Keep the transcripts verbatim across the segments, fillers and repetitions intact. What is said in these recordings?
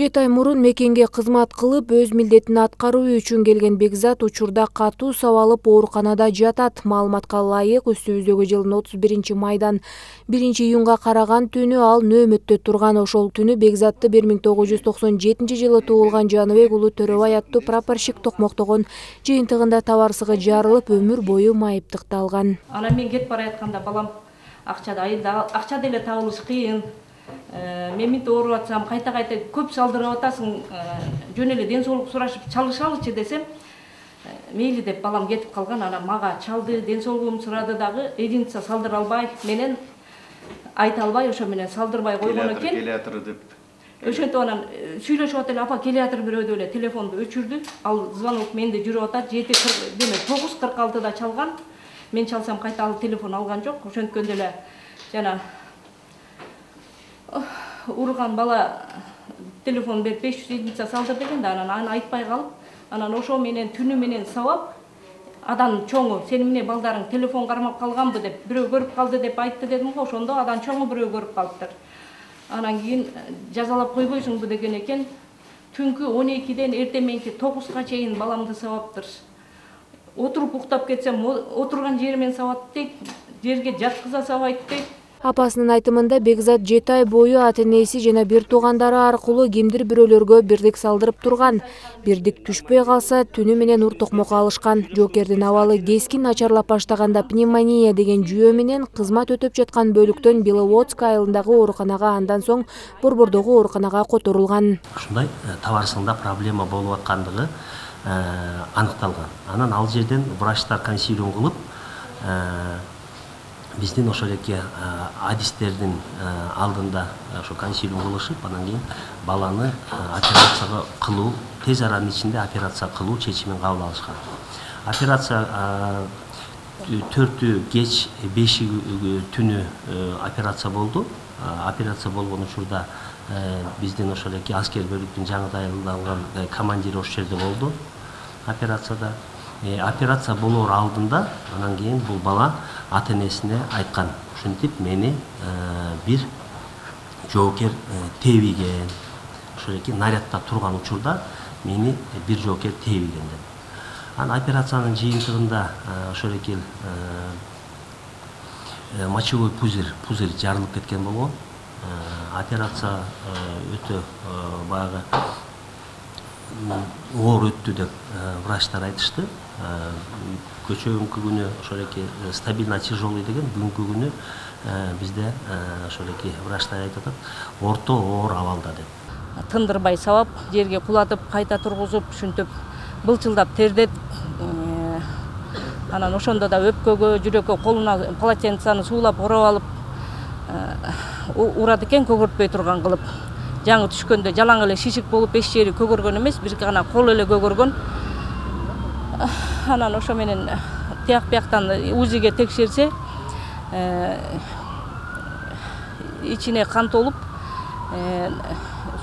Жети ай мурун мекенге кызмат кылып, өз милдетин аткаруу үчүн келген Бекзат учурда катуу сабалып ооруканада жатат. Маалыматка ылайык, үстүбүздөгү жылдын отуз биринчи майдан биринчи июнга караган түнү ал нөөмөттө турган. Ошол түнү Бекзатты бир миң тогуз жүз токсон жетинчи жылы туулган Жаныбек уулу Төрөбай аттуу прапорщик токмоктогон жыйынтыгында табарсыгы жарылып, өмүр бою майыптыкталган. Анан мен кетип баратканда балам акчада айылда акча деле табылыш кыйын. Мен мынтип ооруп атсам, кайта-кайта көп салдырып атасың, жөн эле ден соолук сурашып чалышалычы десем, мейли деп балам кетип калган. Анан мага чалды, ден соолугумду сурады дагы, единица салдыра албай, менен айта албай, ошо менен салдырбай койгон экен. Келеатыр деп. Ошентип анан сүйлөшүп атып эле, апа келеатыр бирөө деп эле телефонду өчүрдү. Ал звонок менде жүрүп атат. жети демек тогуз кырк алтыда чалган. Мен чалсам кайта ал телефон алган жок. Ошенткөндө эле жана урган бала телефон берип беш жүз единица салдыр деген да, анан аны айтпай калып, анан ошо менен түнү менен сабап, адан чоңу сени эмне балдарың телефон кармап калганбы деп, бирөө көрүп калды деп айтты дедим го. Ошондо адан чоңу бирөө көрүп калыптыр. Анан кийин жазалап койбойсуңбу деген экен. Түнкү он экиден эртең мененки тогузга чейин баламды сабаптыр. Отуруп уктап кетсем, отурган жеримен сабат дейт, жерге жаткыза сабайт дейт. Апасынын айтымында Бекзат жети ай бою ата-энеси жана бир туугандары аркылуу кимдир бирөөлөргө бирдик салдырып турган. Бирдик түшпөй калса, түнү менен ур токмокко алышкан. Жоокердин абалы кескин начарлап баштаганда пневмония деген жүйө менен кызмат өтөп жаткан бөлүктөн Беловодск айылындагы ооруканага, андан соң Борбордогу ооруканага которулган. Ушундай табарсыңда проблема болуп аткандыгы аныкталган. Анан ал жерден врачтар консилиум кылып, биздин ошол эки адистердин алдында ошо консилиум кылышып, анан кийин баланы операцияга кылуу, тез аранын ичинде операция кылуу чечимин кабыл алышкан. Операция төртү кеч, беши түнү операция болду. Операция болгон учурда биздин ошол эки аскер бөлүктүн жаңы дайындалган командири ошол жерде болду операцияда. Операция болоор алдында, анан кийин бул бала ата-энесине айткан, ушинтип мени бир жоокер тебиген. Ошол эки нарядда турган учурда мени бир жоокер тебиген деп. Анан операциянын жыйынтыгында ошол эки мочевой пузырь, пузырь жарылып кеткен болгон. Операция өтө баягы оор өттү деп врачтар айтышты. Көчөгүнкү күнү ошол эки стабильно тяжелый деген, бүгүнкү күнү бизде ошол эки врачтар айтып атат, орто оор абалда деп. Тындырбай сабап, жерге кулатып, кайта тургузуп, ушинтип былчылдап тердет. Анан ошондо да өпкөгө, жүрөккө колуна полотенцаны суулап ороп алып урат экен, көгөртпөй турган кылып. Жаңы түшкөндө жалаң эле шишик болуп, эч жери көгөргөн эмес, бир гана кол эле көгөргөн. Анан ошо менен тияк бияктан УЗИге текшерсе, ичине кан толуп,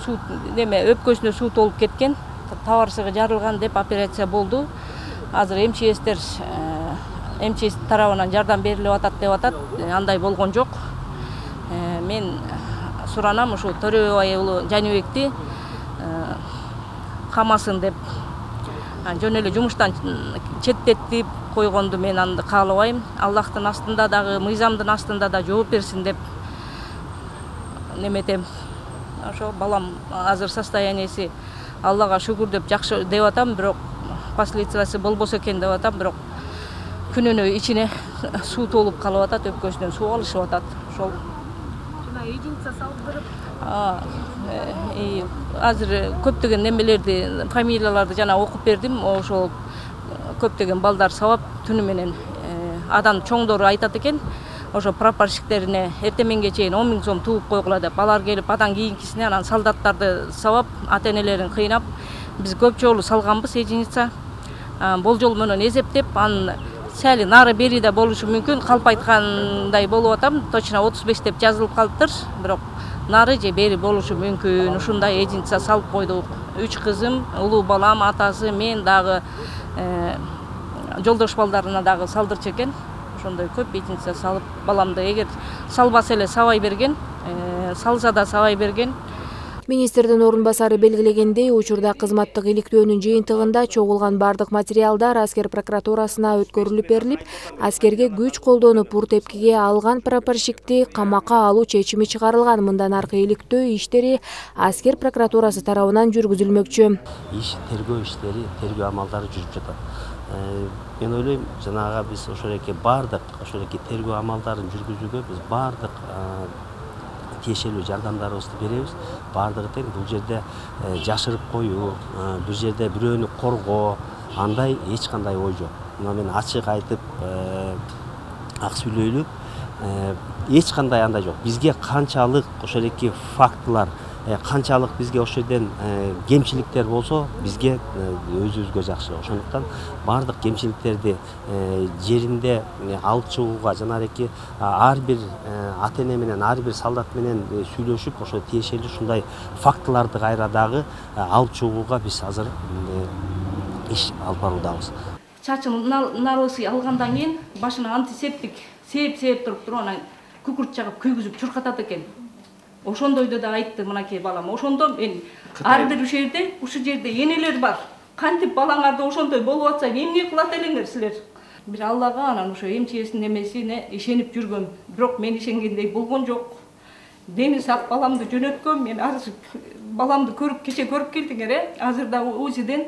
суу неме өпкөсүнө суу толуп кеткен, табарсыгы жарылган деп операция болду. Азыр МЧСтер МЧС тарабынан жардам берилип атат деп атат. Андай болгон жок. Мен суранам ушу Төрөбай уулу Жаныбекти камасын деп, жөн эле жумуштан четтетип койгонду мен аны каалабайм. Аллахтын астында дагы, мыйзамдын астында да жооп берсин деп неметем. Ошо балам азыр состоянияси Аллага шүгүр деп жакшы деп атам, бирок последствиясы болбосо экен деп атам, бирок күнүнө ичине суу толуп калып атат, өпкөсүнөн суу алышып атат. Ошол Единица салдырып. Азыр көптөгөн немелерди, фамилияларды жана окуп бердим. Ошол көптөгөн балдар сабап түнү менен адан чоңдору айтат экен. Ошо прапорщиктерине эртеменге чейин он миң сом тууп койгула деп, алар келип адан кийинкисине анан солдаттарды сабап, ата-энелерин кыйнап, биз көп жолу салганбыз единица. Болжол менен эсептеп, анын сәли нары бери да болушу мүмкүн. Калп айткандай болуп атам, точно отуз беш деп жазылып калыптыр, бирок нары же бери болушу мүмкүн. Ушундай единица салып койдук. Үч кызым, улуу балам, атасы, мен дагы жолдош балдарына дагы салдырчу экен. Ошондой көп единица салып, баламды эгер салбаса эле сабай берген, салса да сабай берген. Министрдин орун басары белгилегендей, учурда кызматтык иликтөөнүн жыйынтыгында чогулган бардык материалдар аскер прокуратурасына өткөрүлүп берилип, аскерге күч колдонуп ур тепкиге алган прапорщикти камакка алуу чечими чыгарылган. Мындан аркы иликтөө иштери аскер прокуратурасы тарабынан жүргүзүлмөкчү. Иш тергөө иштери, тергөө амалдары жүрүп жатат. Мен ойлойм, жанагы биз ошол эки бардык ошол эки тергөө амалдарын жүргүзүүгө биз бардык тиешелүү жардамдарыбызды беребиз. Бардыгы тең бул жерде жашырып коюу, бир жерде бирөөнү коргоо, андай эч кандай ой жок. Мына мен ачык айтып, ак сүйлөйлүк, эч кандай андай жок. Бизге канчалык ошол эки фактылар, канчалык бизге ошол жерден кемчиликтер болсо, бизге өзүбүзгө жакшы. Ошондуктан бардык кемчиликтерди жеринде алып чыгууга жана эки ар бир ата эне менен, ар бир солдат менен сүйлөшүп, ошо тиешелүү ушундай фактыларды кайра дагы алып чыгууга биз азыр иш алып баруудабыз. Чачын налысы алгандан кийин башына антисептик сээп-сээп туруп туруп анан күкүрт жагып күйгүзүп чуркатат экен. Ошондойду да айтты мынакей балам. Ошондо мен ар бир ушул жерде, ушул жерде энелер бар. Кантип балаңарды ошондой болуп атса, эмне кылат элеңер силер? Бир Аллага анан ошо эмчесинин эмесине ишенип жүргөм. Бирок мен ишенгендей болгон жок. Дени сак баламды жөнөткөм. Мен азыр баламды көрүп, кече көрүп келдиңер, э? Азыр да УЗИден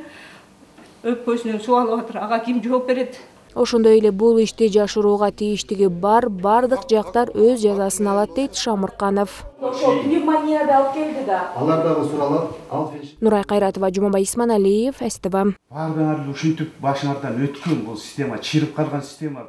өпкөсүнөн суу алып атыр. Ага ким жооп берет? Ошондой эле бул ишти жашырууга тийиштиги бар бардык жактар өз жазасын алат дейт Шамырканов. Ошо пневмонияда алып келди да. Алар дагы суралат. Нурай Кайратова, Жумабай Исманалиев, СТВ. Бардыңар ушинтип башыңардан өткөн бул система, чыйрып калган система.